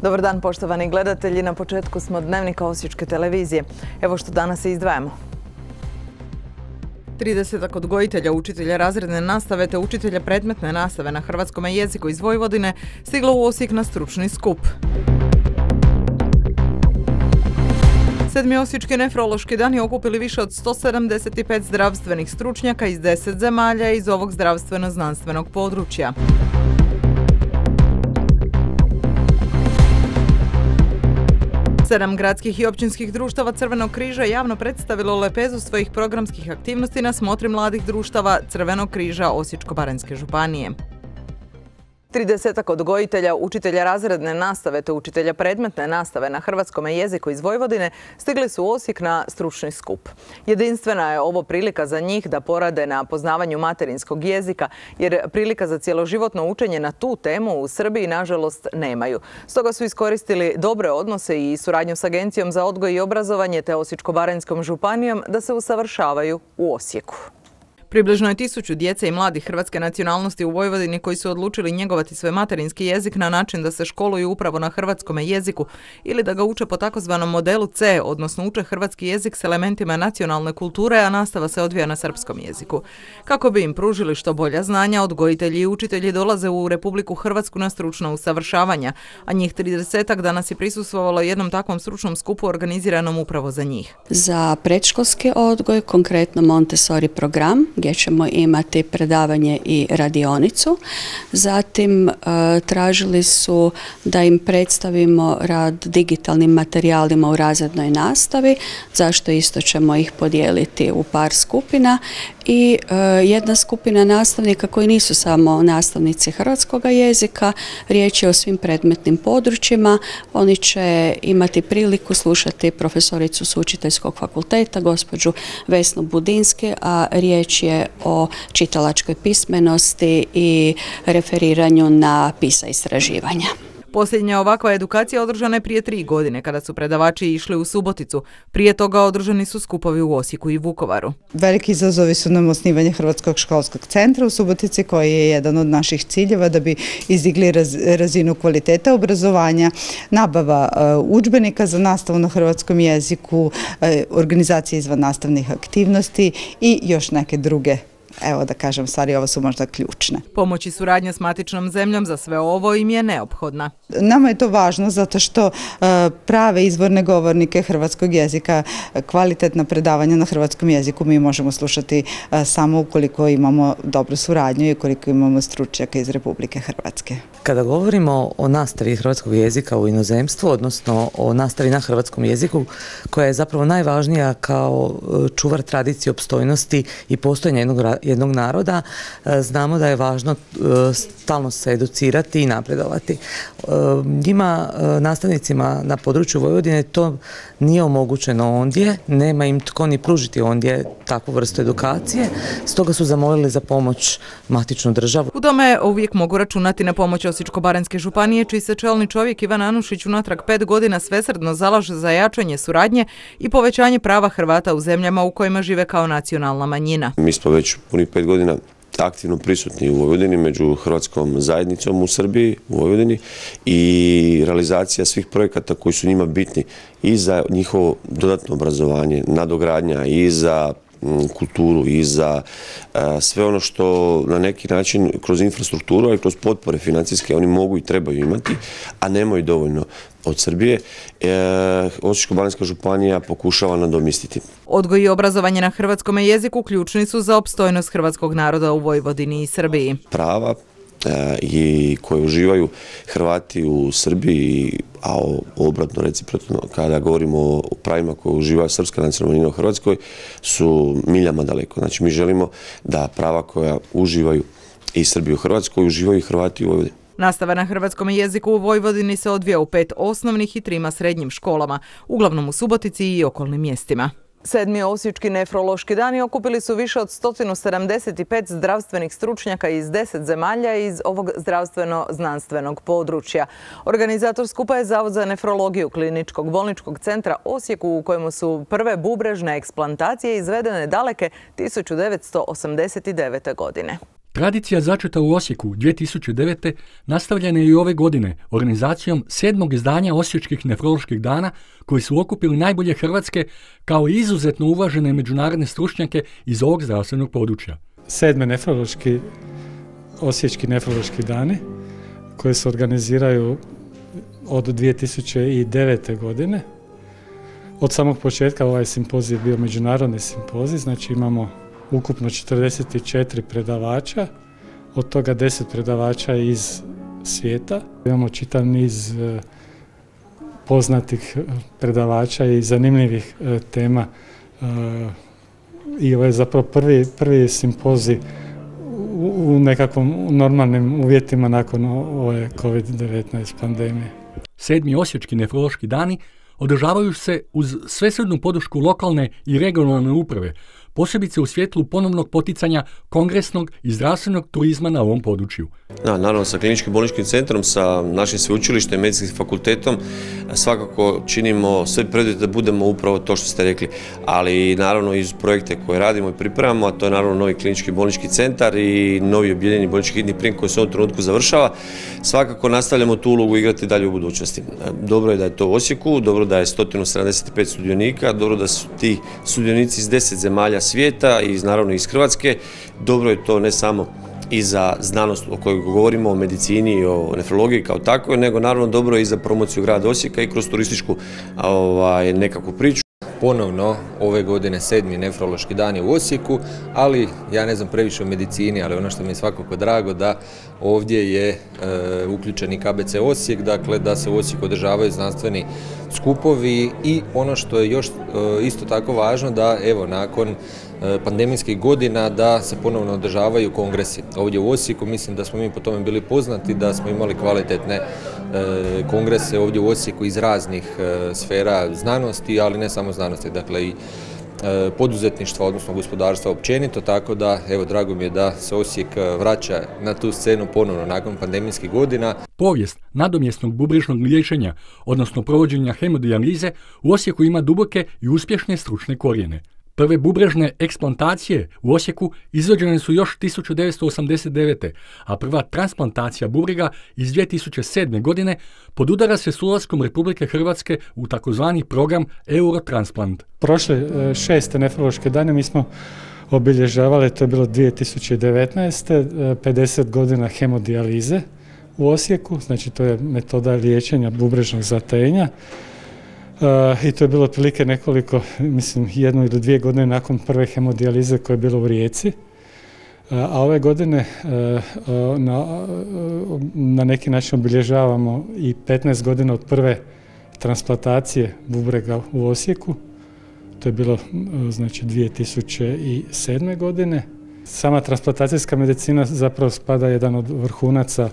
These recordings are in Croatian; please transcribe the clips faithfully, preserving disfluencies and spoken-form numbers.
Dobar dan, poštovani gledatelji. Na početku smo dnevnika Osječke televizije. Evo što danas izdvajamo. tridesetak odgojitelja, učitelja razredne nastave te učitelja predmetne nastave na hrvatskom jeziku iz Vojvodine stiglo u Osijek na stručni skup. Sedmi Osječki nefrološki dani okupili više od sto sedamdeset pet zdravstvenih stručnjaka iz deset zemalja iz ovog zdravstveno-znanstvenog područja. Sedam gradskih i općinskih društava Crvenog križa javno predstavilo lepezu svojih programskih aktivnosti na smotri mladih društava Crvenog križa Osječko-baranjske županije. tridesetak odgojitelja, učitelja razredne nastave te učitelja predmetne nastave na hrvatskom jeziku iz Vojvodine stigli su u Osijek na stručni skup. Jedinstvena je ovo prilika za njih da porade na poznavanju materinskog jezika, jer prilika za cjeloživotno učenje na tu temu u Srbiji nažalost nemaju. Stoga su iskoristili dobre odnose i suradnju s Agencijom za odgoj i obrazovanje te Osječko-baranjskom županijom da se usavršavaju u Osijeku. Približno je tisuću djece i mladih hrvatske nacionalnosti u Vojvodini koji su odlučili njegovati svoj materinski jezik na način da se školuju upravo na hrvatskom jeziku ili da ga uče po takozvanom modelu C, odnosno uče hrvatski jezik s elementima nacionalne kulture, a nastava se odvija na srpskom jeziku. Kako bi im pružili što bolja znanja, odgojitelji i učitelji dolaze u Republiku Hrvatsku na stručna usavršavanja, a njih tridesetak danas je prisustvovalo jednom takvom stručnom skupu organiziranom upravo za njih. Za predškolski odgoj, konkretno Montessori program, gdje ćemo imati predavanje i radionicu. Zatim e, tražili su da im predstavimo rad digitalnim materijalima u razrednoj nastavi, zašto isto ćemo ih podijeliti u par skupina. I e, jedna skupina nastavnika koji nisu samo nastavnici hrvatskog jezika, riječ je o svim predmetnim područjima. Oni će imati priliku slušati profesoricu s Učiteljskog fakulteta, gospođu Vesnu Budinski, a riječ je o čitalačkoj pismenosti i referiranju na PISA istraživanja. Posljednja ovakva edukacija održana je prije tri godine kada su predavači išli u Suboticu. Prije toga održani su skupovi u Osijeku i Vukovaru. Veliki izazovi su nam osnivanje Hrvatskog školskog centra u Subotici, koji je jedan od naših ciljeva da bi izdigli raz, razinu kvaliteta obrazovanja, nabava uh, udžbenika za nastavu na hrvatskom jeziku, uh, organizacija izvan nastavnih aktivnosti i još neke druge. Evo da kažem, stvari ovo su možda ključne. Pomoć i suradnja s matičnom zemljom za sve ovo im je neophodna. Nama je to važno zato što uh, prave izvorne govornike hrvatskog jezika, kvalitetna predavanja na hrvatskom jeziku mi možemo slušati uh, samo ukoliko imamo dobru suradnju i ukoliko imamo stručnjaka iz Republike Hrvatske. Kada govorimo o nastavi hrvatskog jezika u inozemstvu, odnosno o nastavi na hrvatskom jeziku, koja je zapravo najvažnija kao čuvar tradicije, opstojnosti i postojanja jednog, jednog naroda, znamo da je važno stalno se educirati i napredovati. Njima, nastavnicima na području Vojvodine, to nije omogućeno ondje, nema im tko ni pružiti ondje takvu vrstu edukacije, stoga su zamolili za pomoć matičnu državu. U tome uvijek mogu računati na pomoć Osječko-baranjske županije, čiji se čelni čovjek Ivan Anušić unatrag pet godina svesrdno zalaže za jačanje suradnje i povećanje prava Hrvata u zemljama u kojima žive kao nacionalna manjina. Mi smo već punih pet godina aktivno prisutni u Vojvodini, među hrvatskom zajednicom u Srbiji, u Vojvodini, i realizacija svih projekata koji su njima bitni i za njihovo dodatno obrazovanje, nadogradnja, i za kulturu, i za uh, sve ono što na neki način kroz infrastrukturu, ali kroz potpore financijske oni mogu i trebaju imati, a nemaju dovoljno od Srbije. E, Osječko-baranjska županija pokušava nadomjestiti. Odgoj i obrazovanje na hrvatskom jeziku ključni su za opstojnost hrvatskog naroda u Vojvodini i Srbiji. Prava i koje uživaju Hrvati u Srbiji, a obratno reciprotno kada govorimo o pravima koje uživaju srpska nacionalna manjina u Hrvatskoj, su miljama daleko. Znači mi želimo da prava koja uživaju i Srbi u Hrvatskoj uživaju i Hrvati u Vojvodini. Nastava na hrvatskom jeziku u Vojvodini se odvija u pet osnovnih i trima srednjim školama, uglavnom u Subotici i okolnim mjestima. Sedmi Osječki nefrološki dani okupili su više od sto sedamdeset pet zdravstvenih stručnjaka iz deset zemalja iz ovog zdravstveno-znanstvenog područja. Organizator skupa je Zavod za nefrologiju Kliničkog bolničkog centra Osijeku, u kojemu su prve bubrežne eksplantacije izvedene daleke tisuću devetsto osamdeset devete. godine. Tradicija začeta u Osijeku dvije tisuće devete nastavljena je i ove godine organizacijom sedmog izdanja Osječkih nefroloških dana koji su okupili najbolje hrvatske kao i izuzetno uvažene međunarodne stručnjake iz ovog zdravstvenog područja. Sedme nefrološki, Osječki nefrološki dani koji se organiziraju od dvije tisuće devete. godine. Od samog početka ovaj simpozij je bio međunarodni simpozij, znači imamo ukupno četrdeset četiri predavača, od toga deset predavača iz svijeta. Imamo čitav niz poznatih predavača i zanimljivih tema i ovo je zapravo prvi, prvi simpozij u nekakvom normalnim uvjetima nakon ove kovid devetnaest pandemije. Sedmi Osječki nefrološki dani održavaju se uz svesrdnu podršku lokalne i regionalne uprave, posebice u svjetlu ponovnog poticanja kongresnog i zdravstvenog turizma na ovom području. Da, naravno, sa kliničkim bolničkim centrom, sa našim sveučilištem i medicinskim fakultetom svakako činimo sve preduvjete da budemo upravo to što ste rekli, ali naravno iz projekte koje radimo i pripremamo, a to je naravno novi klinički bolnički centar i novi objedinjeni bolnički hitni prijem koji se u ovom trenutku završava, svakako nastavljamo tu ulogu igrati dalje u budućnosti. Dobro je da je to u Osijeku, dobro da je sto sedamdeset pet sudionika, dobro da su ti sudionici iz deset zemalja svijeta i naravno iz Hrvatske. Dobro je to ne samo i za znanost o kojoj govorimo, o medicini i o nefrologiji kao takvoj, nego naravno dobro je i za promociju grada Osijeka i kroz turističku ovaj, nekakvu priču. Ponovno ove godine sedmi nefrološki dan je u Osijeku, ali ja ne znam previše o medicini, ali ono što mi je svakako drago da ovdje je e, uključen i K B C Osijek, dakle da se u Osijeku održavaju znanstveni skupovi i ono što je još e, isto tako važno da evo nakon e, pandemijskih godina da se ponovno održavaju kongresi. Ovdje u Osijeku mislim da smo mi po tome bili poznati, da smo imali kvalitetne e, kongrese ovdje u Osijeku iz raznih e, sfera znanosti, ali ne samo znanosti, dakle i e, poduzetništva, odnosno gospodarstva općenito, tako da evo drago mi je da se Osijek vraća na tu scenu ponovno nakon pandemijskih godina. Povijest nadomjesnog bubrežnog liječenja, odnosno provođenja hemodijalize, u Osijeku ima duboke i uspješne stručne korijene. Prve bubrežne eksplantacije u Osijeku izvođene su još tisuću devetsto osamdeset devete. a prva transplantacija bubrega iz dvije tisuće sedme. godine podudara se s ulaskom Republike Hrvatske u takozvani program Eurotransplant. Prošle šeste nefrološke dane mi smo obilježavali, to je bilo dvije tisuće devetnaeste. pedeset godina hemodijalize u Osijeku, znači to je metoda liječenja bubrežnog zatajenja. Uh, I to je bilo otprilike nekoliko, mislim, jednu ili dvije godine nakon prve hemodijalize koja je bila u Rijeci. Uh, a ove godine uh, uh, na, uh, na neki način obilježavamo i petnaest godina od prve transplantacije bubrega u Osijeku. To je bilo uh, znači dvije tisuće sedme. godine. Sama transplantacijska medicina zapravo spada jedan od vrhunaca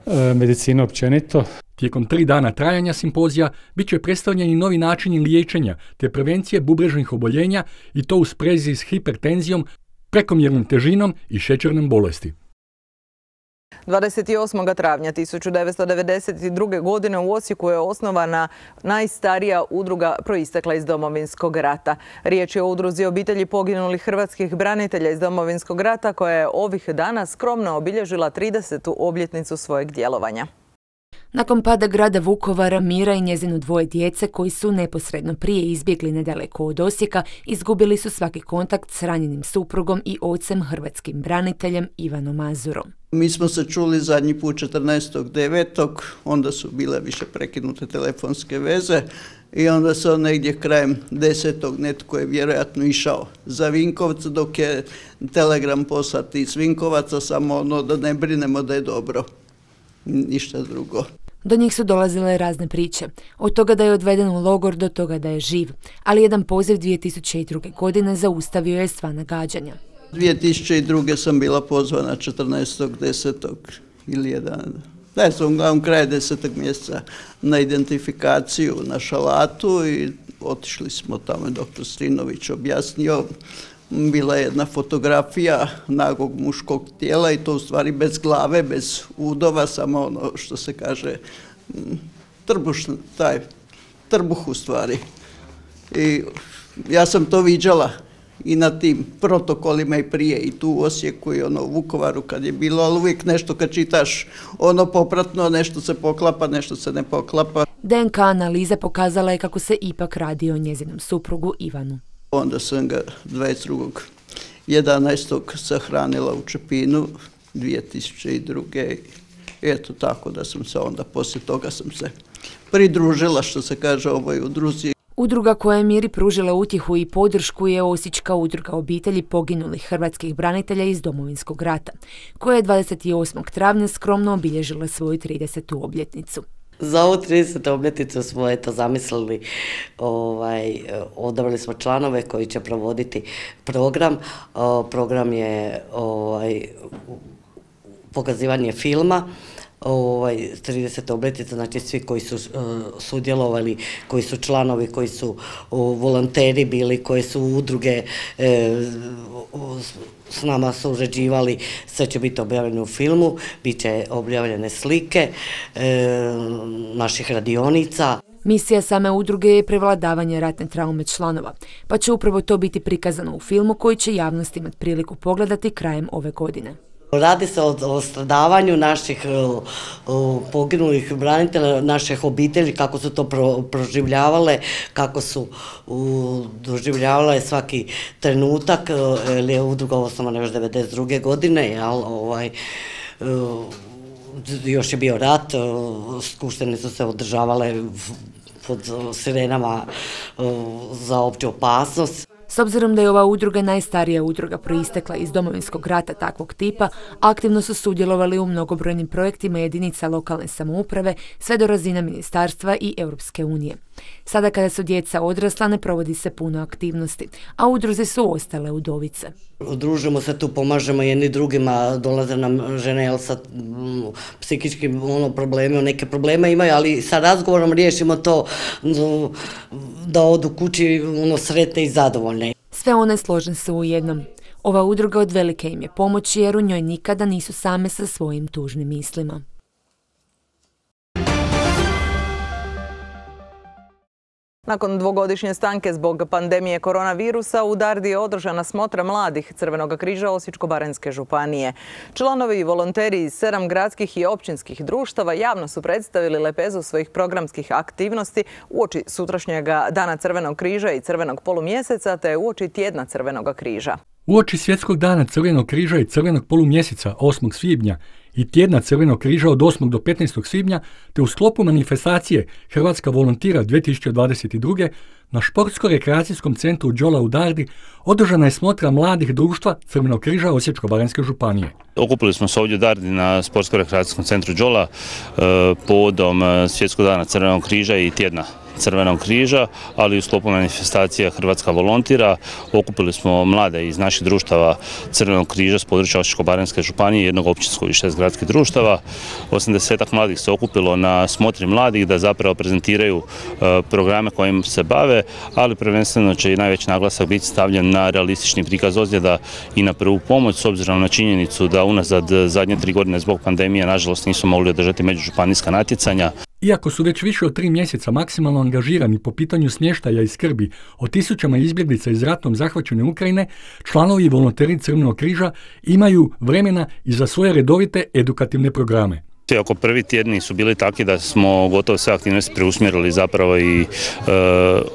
uh, medicine općenito. Tijekom tri dana trajanja simpozija bit će predstavljeni novi načini liječenja te prevencije bubrežnih oboljenja i to u sprezi s hipertenzijom, prekomjernom težinom i šećernom bolesti. dvadeset osmog travnja tisuću devetsto devedeset druge. godine u Osijeku je osnovana najstarija udruga proistekla iz Domovinskog rata. Riječ je o udruzi obitelji poginulih hrvatskih branitelja iz Domovinskog rata koja je ovih dana skromno obilježila tridesetu obljetnicu svojeg djelovanja. Nakon pada grada Vukovara, Mira i njezino dvoje djece koji su neposredno prije izbjegli nedaleko od Osijeka, izgubili su svaki kontakt s ranjenim suprugom i ocem hrvatskim braniteljem Ivanom Mazurom. Mi smo se čuli zadnji put četrnaestog devetog onda su bile više prekinute telefonske veze i onda se on negdje krajem desetog netko je vjerojatno išao za Vinkovce dok je telegram poslat iz Vinkovaca, samo ono da ne brinemo da je dobro. Ništa drugo. Do njih su dolazile razne priče. Od toga da je odveden u logor do toga da je živ. Ali jedan poziv dvije tisuće druge. godine zaustavio je sva nagađanja. dvije tisuće druge. sam bila pozvana četrnaestog desetog ili jedan. Da, sam uglavnom kraj desetog mjeseca na identifikaciju na Šalatu i otišli smo tamo, doktor Strinović objasnio. Bila je jedna fotografija nagog muškog tijela i to u stvari bez glave, bez udova, samo ono što se kaže trbuš, taj trbuh u stvari. I ja sam to viđala i na tim protokolima i prije i tu u Osijeku i ono u Vukovaru kad je bilo, ali uvijek nešto kad čitaš ono popratno, nešto se poklapa, nešto se ne poklapa. D N K analiza pokazala je kako se ipak radi o njezinom suprugu Ivanu. Onda sam ga dvadeset drugog jedanaestog sahranila u Čepinu dvije tisuće druge. Eto tako da sam se onda poslije toga sam se pridružila, što se kaže, ovoj udruzi. Udruga koja je Miri pružila utjehu i podršku je Osječka udruga obitelji poginulih hrvatskih branitelja iz Domovinskog rata, koja je dvadeset osmog travnja skromno obilježila svoju tridesetu obljetnicu. Za ovu tridesetu obljetnicu smo eto zamislili, ovaj, odabrali smo članove koji će provoditi program. O, program je ovaj, pokazivanje filma, ovaj, trideseta obljetnica, znači svi koji su uh, sudjelovali, koji su članovi, koji su uh, volonteri bili, koji su udruge uh, s nama surađivali, sve će biti objavljeno u filmu, bit će objavljene slike uh, naših radionica. Misija same udruge je prevladavanje ratne traume članova, pa će upravo to biti prikazano u filmu koji će javnost imati priliku pogledati krajem ove godine. Radi se o, o stradavanju naših o, o, poginulih branitelja, naših obitelji, kako su to pro, proživljavale, kako su o, doživljavale svaki trenutak, jer je udruga osnovana još devedeset druge godine, jel, ovaj, o, još je bio rat, o, skupštine su se održavale pod sirenama o, za opću opasnost. S obzirom da je ova udruga najstarija udruga proistekla iz Domovinskog rata takvog tipa, aktivno su sudjelovali u mnogobrojnim projektima jedinica lokalne samouprave sve do razine ministarstva i Europske unije. Sada kada su djeca odrasla ne provodi se puno aktivnosti, a udruze su ostale udovice. Družimo se tu, pomažemo jedni drugima, dolaze nam žene jel, sa m, psihičkim ono, problemi, neke probleme imaju, ali sa razgovorom riješimo to no, da odu kući ono, sretne i zadovoljne. Sve one složne su u jednom. Ova udruga od velike im je pomoći jer u njoj nikada nisu same sa svojim tužnim mislima. Nakon dvogodišnje stanke zbog pandemije koronavirusa u Dardi je održana smotra mladih Crvenog križa Osječko-baranjske županije. Članovi i volonteri iz sedam gradskih i općinskih društava javno su predstavili lepezu svojih programskih aktivnosti uoči sutrašnjega Dana Crvenog križa i Crvenog polumjeseca te uoči tjedna Crvenog križa. Uoči Svjetskog dana Crvenog križa i Crvenog polumjeseca osmog svibnja i tjedna Crvenog križa od osmog do petnaestog svibnja, te u sklopu manifestacije Hrvatska volontira dvije tisuće dvadeset druge. na Športsko-rekreacijskom centru Đola u Dardi održana je smotra mladih društva Crvenog križa Osječko-baranjske županije. Okupili smo se ovdje u Dardi na Sportsko-rekreacijskom centru Đola povodom Svjetskog dana Crvenog križa i tjedna Crvenog križa, ali u sklopu manifestacija Hrvatska volontira. Okupili smo mlade iz naših društava Crvenog križa s područja Osječko-baranjske županije, jednog općinskog i šest gradskih društava. osamdesetak mladih se okupilo na smotri mladih da zapravo prezentiraju programe kojim se bave, ali prvenstveno će i najveći naglasak biti stavljen na realistični prikaz ozljeda i na prvu pomoć, s obzirom na činjenicu da unazad zadnje tri godine zbog pandemije nažalost nisu mogli održati međužupanijska natjecanja. Iako su već više od tri mjeseca maksimalno angažirani po pitanju smještaja i skrbi o tisućama izbjeglica iz ratom zahvaćene Ukrajine, članovi i volonteri Crvenog križa imaju vremena i za svoje redovite edukativne programe. Oko prvi tjedni su bili takvi da smo gotovo sve aktivnosti preusmjerili zapravo i e,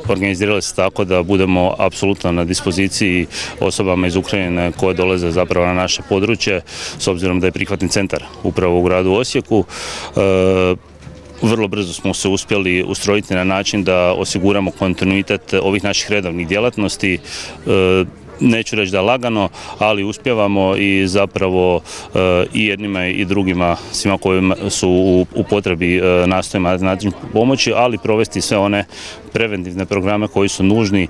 organizirali se tako da budemo apsolutno na dispoziciji osobama iz Ukrajine koje dolaze zapravo na naše područje, s obzirom da je prihvatni centar upravo u gradu Osijeku. E, Vrlo brzo smo se uspjeli ustrojiti na način da osiguramo kontinuitet ovih naših redovnih djelatnosti. Neću reći da lagano, ali uspjevamo i zapravo i jednima i drugima, svima koji su u potrebi nastojimo na način pomoći, ali provesti sve one preventivne programe koji su nužni.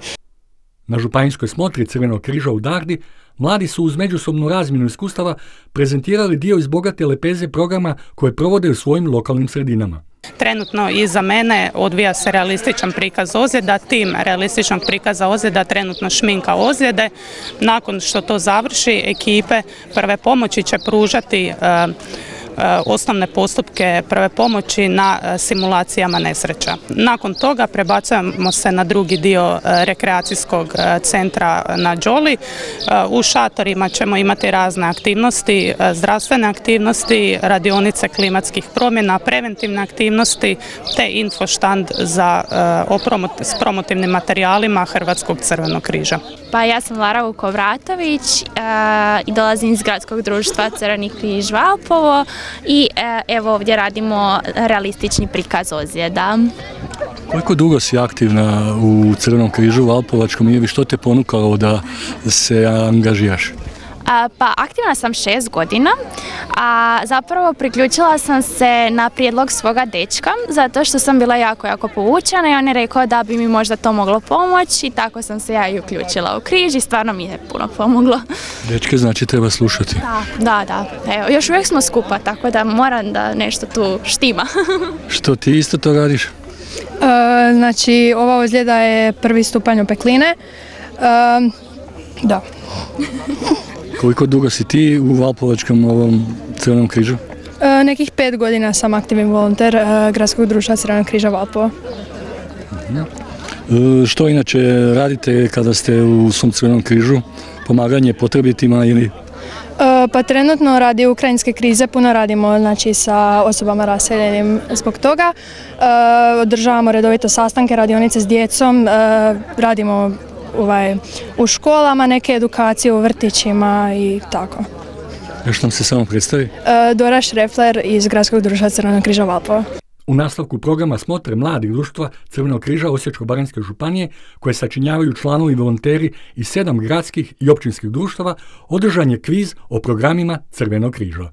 Na županijskoj smotri Crvenog križa u Dardi mladi su uz međusobnu razmjenu iskustava prezentirali dio iz bogate lepeze programa koje provode u svojim lokalnim sredinama. Trenutno iza mene odvija se realističan prikaz ozljeda, tim realističnog prikaza ozljeda trenutno šminka ozljede. Nakon što to završi, ekipe prve pomoći će pružati osnovne postupke prve pomoći na simulacijama nesreća. Nakon toga prebacujemo se na drugi dio rekreacijskog centra na Đoli. U šatorima ćemo imati razne aktivnosti, zdravstvene aktivnosti, radionice klimatskih promjena, preventivne aktivnosti te infoštand za, s promotivnim materijalima Hrvatskog crvenog križa. Pa ja sam Lara Vukovratović i dolazim iz Gradskog društva Crveni križ Valpovo i evo ovdje radimo realistični prikaz ozljeda. Koliko dugo si aktivna u Crvenom križu Valpovačkom i što te ponukalo da se angažiraš? Pa aktivna sam šest godina, a zapravo priključila sam se na prijedlog svoga dečka zato što sam bila jako, jako povučena i on je rekao da bi mi možda to moglo pomoći i tako sam se ja i uključila u križ i stvarno mi je puno pomoglo. Dečke znači treba slušati. Da, da, da. Evo, još uvijek smo skupa, tako da moram da nešto tu štima. Što ti isto to radiš? E, znači, ova ozljeda je prvi stupanj opekline. E, da. Koliko dugo si ti u Valpovačkom ovom Crvenom križu? E, nekih pet godina sam aktivni volonter e, Gradskog društva Crvenog križa Valpova. E, što inače radite kada ste u svom Crvenom križu? Pomaganje potrebitima ili? E, pa trenutno radi ukrajinske krize, puno radimo znači, sa osobama raseljenim zbog toga. E, održavamo redovito sastanke, radionice s djecom, e, radimo Ovaj, u školama, neke edukacije u vrtićima i tako. Još nam se samo predstavi. E, Dora Šrefler iz Gradskog društva Crvenog križa Valpova. U nastavku programa Smotre mladih društva Crvenog križa Osječko-baranjske županije, koje sačinjavaju članovi volonteri iz sedam gradskih i općinskih društava, održan je kviz o programima Crvenog križa.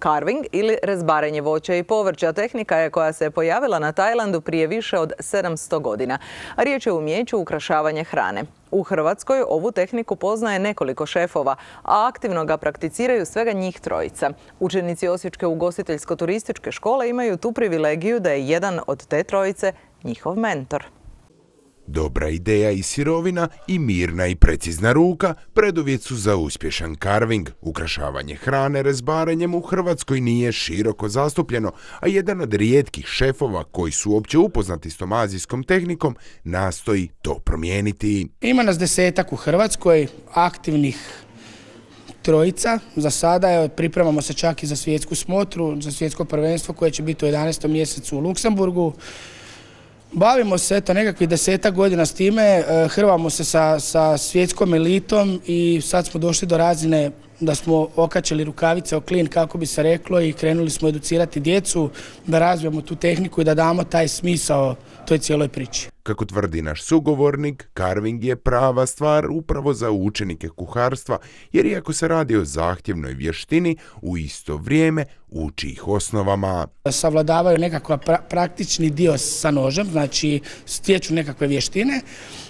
Carving ili rezbarenje voća i povrća tehnika je koja se pojavila na Tajlandu prije više od sedamsto godina. Riječ je o umijeću ukrašavanja hrane. U Hrvatskoj ovu tehniku poznaje nekoliko šefova, a aktivno ga prakticiraju svega njih trojica. Učenici Osječke ugostiteljsko-turističke škole imaju tu privilegiju da je jedan od te trojice njihov mentor. Dobra ideja i sirovina i mirna i precizna ruka preduvjet su za uspješan carving. Ukrašavanje hrane rezbarenjem u Hrvatskoj nije široko zastupljeno, a jedan od rijetkih šefova koji su uopće upoznati s tom azijskom tehnikom nastoji to promijeniti. Ima nas desetak u Hrvatskoj, aktivnih trojica. Za sada je, pripremamo se čak i za svjetsku smotru, za svjetsko prvenstvo koje će biti u jedanaestom mjesecu u Luksemburgu. Bavimo se eto nekakvih desetak godina s time, hrvamo se sa, sa svjetskom elitom i sad smo došli do razine da smo okačili rukavice o klin, kako bi se reklo, i krenuli smo educirati djecu, da razvijemo tu tehniku i da damo taj smisao toj cijeloj priči. Kako tvrdi naš sugovornik, carving je prava stvar upravo za učenike kuharstva, jer iako se radi o zahtjevnoj vještini, u isto vrijeme uči ih osnovama. Savladavaju nekakav pra praktični dio sa nožem, znači stječu nekakve vještine,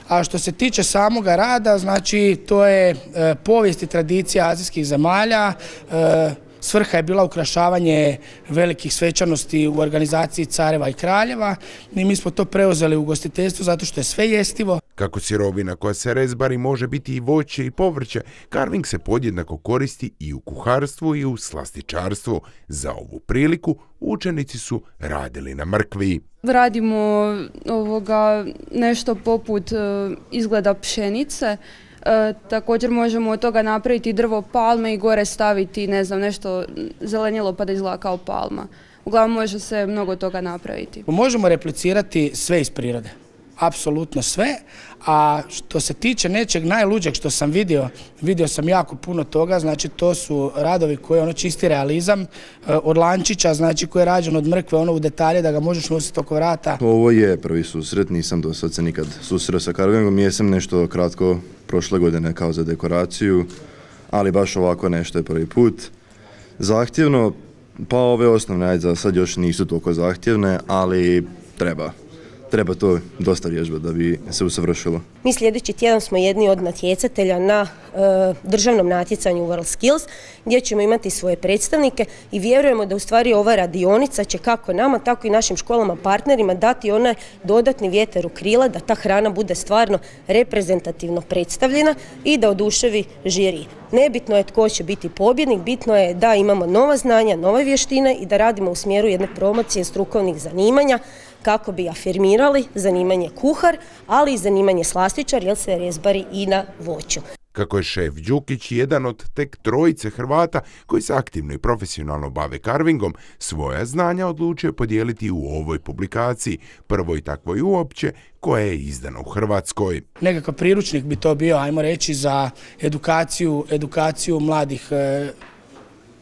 a što se tiče samoga rada, znači to je e, povijest i tradicija azijskih zemalja. E, Svrha je bila ukrašavanje velikih svečanosti u organizaciji careva i kraljeva i mi smo to preuzeli u ugostiteljstvu zato što je sve jestivo. Kako sirovina koja se rezbari može biti i voće i povrće, carving se podjednako koristi i u kuharstvu i u slastičarstvu. Za ovu priliku učenici su radili na mrkvi. Radimo ovoga nešto poput uh, izgleda pšenice. E, također možemo od toga napraviti drvo palme i gore staviti, ne znam, nešto zelenjelo pa da izgleda kao palma. Uglavnom može se mnogo toga napraviti. Možemo replicirati sve iz prirode, apsolutno sve, a što se tiče nečeg najluđeg što sam vidio, vidio sam jako puno toga, znači to su radovi koji je ono čisti realizam, od lančića, znači koji je rađen od mrkve, ono u detalje da ga možeš nositi oko vrata. Ovo je prvi susret, nisam do sad se nikad susreo sa carvingom, jesam nešto kratko prošle godine kao za dekoraciju, ali baš ovako nešto je prvi put. Zahtjevno, pa ove osnovne, ajde za sad još nisu toliko zahtjevne, ali treba. treba to dosta vježbati da bi se usavršilo. Mi sljedeći tjedan smo jedni od natjecatelja na e, državnom natjecanju WorldSkills gdje ćemo imati svoje predstavnike i vjerujemo da u stvari ova radionica će kako nama, tako i našim školama partnerima dati onaj dodatni vjetar u krila da ta hrana bude stvarno reprezentativno predstavljena i da oduševi žiri. Nebitno je tko će biti pobjednik, bitno je da imamo nova znanja, nove vještine i da radimo u smjeru jedne promocije strukovnih zanimanja kako bi afirmirali zanimanje kuhar, ali i zanimanje slastičar jer se rezbari i na voću. Kako je šef Đukić jedan od tek trojice Hrvata koji se aktivno i profesionalno bave karvingom, svoja znanja odlučio podijeliti u ovoj publikaciji, prvoj takvoj uopće, koja je izdana u Hrvatskoj. Nekakav priručnik bi to bio, ajmo reći, za edukaciju, edukaciju mladih e,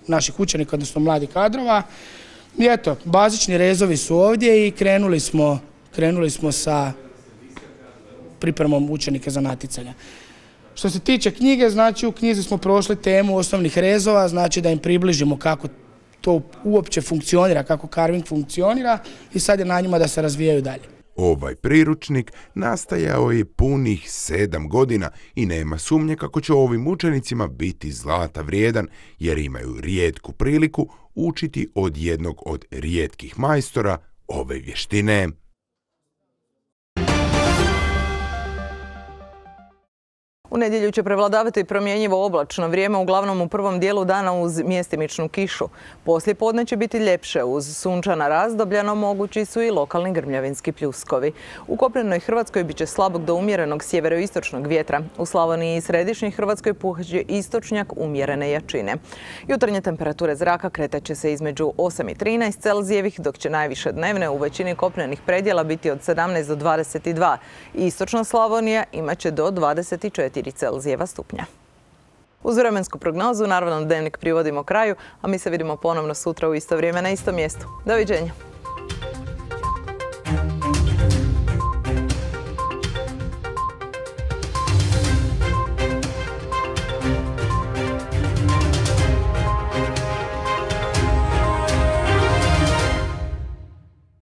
naših učenika, odnosno mladih kadrova. I eto, bazični rezovi su ovdje i krenuli smo, krenuli smo sa pripremom učenika za natjecanja. Što se tiče knjige, znači u knjizi smo prošli temu osnovnih rezova, znači da im približimo kako to uopće funkcionira, kako carving funkcionira i sad je na njima da se razvijaju dalje. Ovaj priručnik nastajao je punih sedam godina i nema sumnje kako će ovim učenicima biti zlata vrijedan, jer imaju rijetku priliku učiti od jednog od rijetkih majstora ove vještine. U nedjelju će prevladavati promjenjivo oblačno vrijeme, uglavnom u prvom dijelu dana uz mjestimičnu kišu. Poslije podne će biti ljepše uz sunčana razdoblja, no mogući su i lokalni grmljavinski pljuskovi. U kopnenoj Hrvatskoj bit će slabog do umjerenog sjeveroistočnog vjetra. U Slavoniji i središnjoj Hrvatskoj puhat će istočnjak umjerene jačine. Jutarnje temperature zraka kretat će se između osam i trinaest Celzijevih, dok će najviše dnevne u većini kopnenih predjela biti od sedamnaest do dvadeset dva. Istočna Slavonija imat će do dvadeset četiri Celzijeva stupnja. Uz vremensku prognozu, naravno, Dnevnik privodimo kraju, a mi se vidimo ponovno sutra u isto vrijeme na istom mjestu. Doviđenja!